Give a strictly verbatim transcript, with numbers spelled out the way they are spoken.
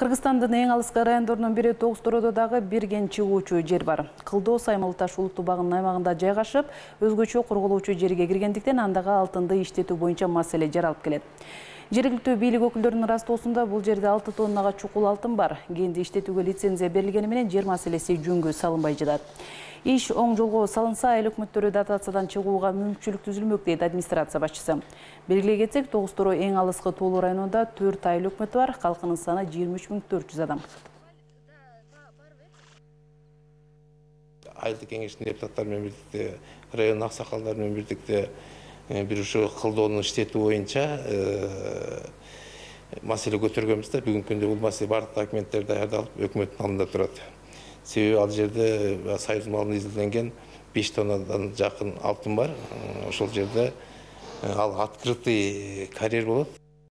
Кыргызстандын эң алыскы райондорунун бири Тогуз Тородо дагы бир кен чыгуучу жер бар. Кылдоо Саймыл Таш улуттук багынын аймагында жайгашып, өзгөчө корголуучу жерге киргендиктен андагы алтынды иштетүү боюнча маселе жаралып келет. Жергиликтүү бийлик өкүлдөрүнүн ырастоосунда бул жерде алты тоннага чукул алтын бар. Кенди иштетүүгө лицензия берилгени менен жер маселеси жөнгө салынбай жатат. Иш оң жолго салынса, эл өкмөттөрү дотациядан чыгууга мүмкүнчүлүк түзүлмөк дейт администрация башчысы. Белгилей кетсек, Тогуз Торо эң алыскы Тоолу районунда төрт айыл өкмөтү бар, калкынын саны жыйырма үч миң төрт жүз адам. Айылдык кеңештин депутаттары менен бирдикте, район аксакалдары менен бирдикте бир ушу кылдоону иштетүү боюнча маселе көтөргөнбүз да. Бүгүнкү күндө бул маселе бардык документтер даярдалып, өкмөттүн алдында турат. Себеби ал жерде союз малынан изилденген беш тоннадан жакын алтын бар. Ошол жерде ал открытый карьер болот.